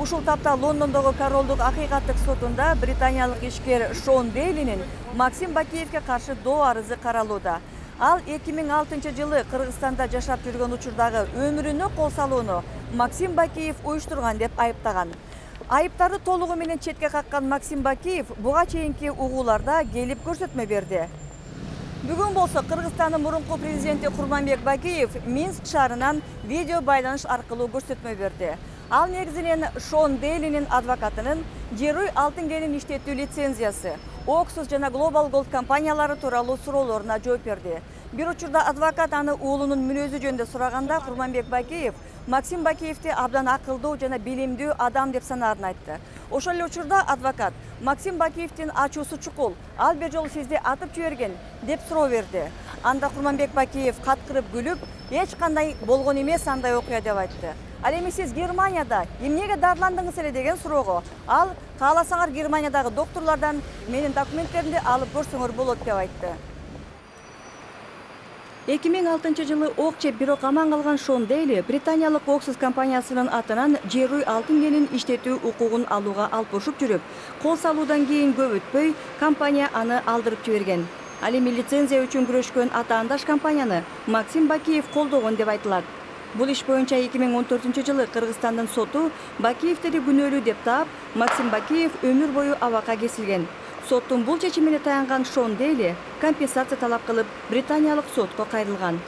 Ушул тапта Лондондогу королдук акыйкаттык сотунда британиялык ишкер Шон Дейлинин Максим Бакиевге каршы доо арызы каралууда. Ал 2006 жылы Кыргызстанда жашап жүргөн учурдагы өмүрүнө кол салууну Максим Бакиев уюштурган деп айыптаган. Айыптарды толугу менен четке каккан Максим Бакиев буга чейинки угууларда келип көрсөтмө берди. Бүгүн болсо Кыргызстандын мурунку президенти Курманбек Бакиев Минск шаарынан видео байланыш аркылуу көрсөтмө берди. Ал негизинен Шон Дейлинин адвокатынын Герой алтын кенин иштетүү лицензиясы, Oxus жана Global Gold компаниялары тууралуу суроолоруна жооп берди. Бир учурда адвокат аны уулунун мүнөзү жөнүндө сураганда Курманбек Бакиев Максим Бакиевди абдан акылдуу жана билимдүү адам деп санаарын айтты. Ошол эле учурда адвокат Максим Бакиевдин ачуусу чукул, ал бир жолу сизди атып жиберген деп суроо берди. Анда Курманбек Бакиев каткырып күлүп, эч кандай болгон эмес андай окуя деп айтты. Ал эми сиз Германияда эмнеге дарыландыңыз эле деген суроого ал кааласаңар Германиядагы доктурлардан менин документтеримди алып көрсөңөр болот деп айтты. 2006 жылы ок жеп бирок аман калган Шон Дейли британиялык Oxus компаниясынын атынан Герой алтын кенин иштетүү укугун алууга алпушуп жүрүп, кол салуудан кийин көп өтпөй компания аны алдырып жиберген. Ал эми лицензия үчүн күрөшкөн атаандаш компанияны Максим Бакиев колдогон деп айтылат. Бул иш боюнча 2014 жылы Кыргызстандын соту Бакиевдерди күнөөлүү деп таап, Максим Бакиев өмүр бою абакка кесилген. Соттун бул чечимине таянган Шон Дейли компенсация талап кылып, британиялык сотко кайрылган.